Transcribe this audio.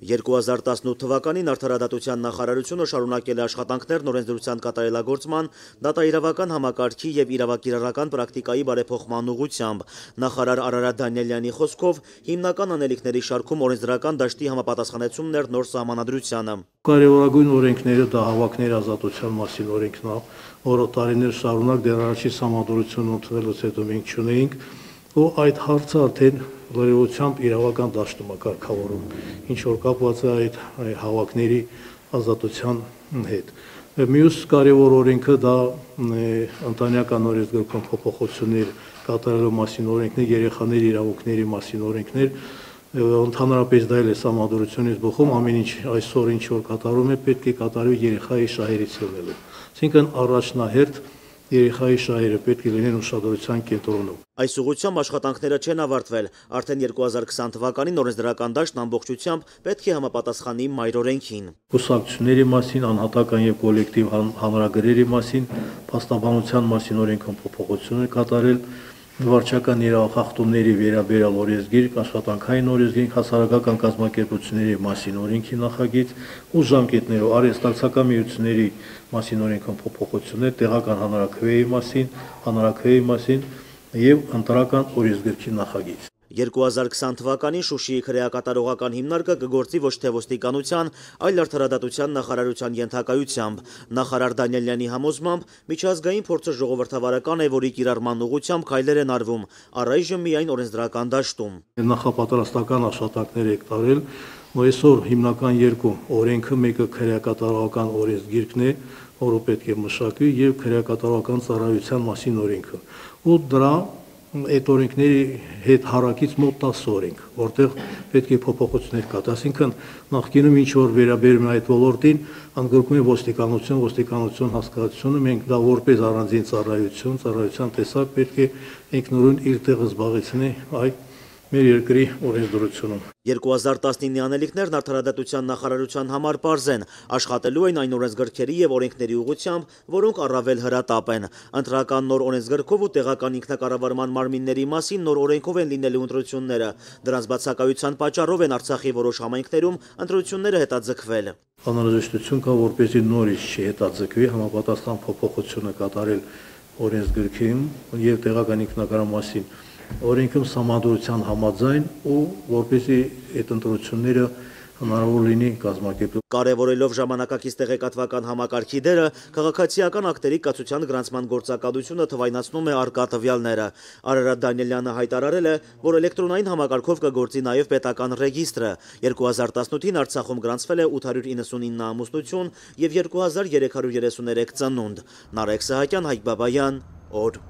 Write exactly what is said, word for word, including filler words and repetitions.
երկու հազար տասնութ թվականին Արդարադատության նախարարությունը շարունակել է աշխատանքներն օրենսդրության կատարելագործման, դատաիրավական համակարգի եւ իրավակիրառական պրակտիկայի բարեփոխման ուղղությամբ։ Նախարար Արարատ Դանիելյանի խոսքով հիմնական անելիքների շարքում օրենսդրական դաշտի համապատասխանեցումն էր նոր սահմանադրությանը։ Կարևորագույն օրենքները դա հավաքների ազատության մասին օրենքն է, որը տարիներ շարունակ դեռ առաջի սահմանադրությունը ընդունելուց հետո մենք չունեինք, ու այդ հարցը արդեն լրիվությամբ իրավական դաշտում է կարգավորում, ինչ որ կապված է այդ հավաքների ազատության հետ։ Մյուս կարևոր օրենքը դա ընտանեկան օրենսգրքում փոփոխություններ կատարելու մասին օրենքն է, երեխաների իրավունքների մասին օրենքներ, ընդհանրապես դա էլ է սահմանադրությունից բխում, ամեն ինչ այսօր ինչ որ կատարում է, պետք է կատարվի երեխայի շահերից ելնելով։ Այսինքն առաջնահերթ երեխայի շահերը պետք է լինեն ուշադրության կենտրոնում։ Այս ուղղությամբ աշխատանքները չեն ավարտվել, արդեն երկու հազար քսան թվականին օրենսդրական դաշտն ամբողջությամբ պետք է համապատասխանի մայր օրենքին։ Կուսակցությունների մասին, անհատական եւ կոլեկտիվ հանրագրերի մասին, փաստաբանության մասին օրենքում փոփոխություն է կատարել, վարչական իրավախախտումների վերաբերյալ օրենսգիր, աշխատանքային օրենսգիր, հասարակական կազմակերպությունների մասին օրենքի նախագիծ ու ժամկետներով արհեստակցական միությունների մասին օրենքում փոփոխություններ, տեղական հանրաքվեի մասին, հանրաքվեի մասին եւ ընտրական օրենսգրքի նախագիծ։ երկու հազար քսան թվականին Շուշիի քրեակատարողական հիմնարկը կգործի ոչ թե ոստիկանության, այլ Արդարադատության նախարարության ենթակայությամբ։ Նախարար Դանիելյանի համոզմամբ միջազգային փորձը ժողովրդավարական է, որի կիրառման ուղղությամբ քայլեր են արվում, առայժմ միայն օրենսդրական դաշտում։ Նախապատրաստական աշխատանքներ եք տարել, ու այսօր հիմնական երկու օրենքը, մեկը քրեակատարողական օրենսգիրքն է, որը պետք է մշակվի, եւ քրեակատարողական ծառայության մասին օրենքը։ Ու դրա այդ օրենքների հետ հարակից մոտ տասը օրենք, որտեղ պետք է փոփոխություններ կատարվեն, այսինքն նախկինում ինչ որ վերաբերում է այդ ոլորտին, ընդգրկում է ոստիկանություն, ոստիկանություն հասկացությունը, մենք դա որպես առանձին ծառայություն, ծառայության տեսակ պետք է ինքնուրույն իր տեղը զբաղեցնի այդ մեր երկրի օրենսդրությունում։ երկու հազար տասնինի անելիքներն Արդարադատության նախարարության համար պարզ են, աշխատելու են այն օրենսգրքերի եւ օրենքների ուղղությամբ, որոնք առավել հրատապ են։ Ընտրական նոր օրենսգրքով ու տեղական ինքնակառավարման մարմինների մասին նոր օրենքով են լինելու ընտրությունները։ Դրանց բացակայության պատճառով են Արցախի որոշ համայնքներում ընտրությունները հետաձգվել։ Անհրաժեշտություն կա, որպեսզի նորից չհետաձգվի, համապատասխան փոփոխությունը կատարել օրենսգրքին եւ տեղական ինքնակառավարման մասին օրենքում սահմանադրության համաձայն ու որպեսզի այդ ընտրությունները հնարավոր լինի կազմակերպել։ Կարևորելով ժամանակակից տեղեկատվական համակարգի դերը, քաղաքացիական ակտերի կացության գրանցման գործակալությունը թվայնացնում է առկա տվյալները։ Արարատ Դանիելյանը հայտարարել է, որ էլեկտրոնային համակարգով կգործի նաև պետական ռեգիստրը։ երկու հազար տասնութին Արցախում գրանցվել է ութ հարյուր իննսունինը ամուսնություն եւ երկու հազար երեք հարյուր երեսուներեք ծնունդ։ Նարեկ Սահակյան, Հայկ Բաբայան, օր։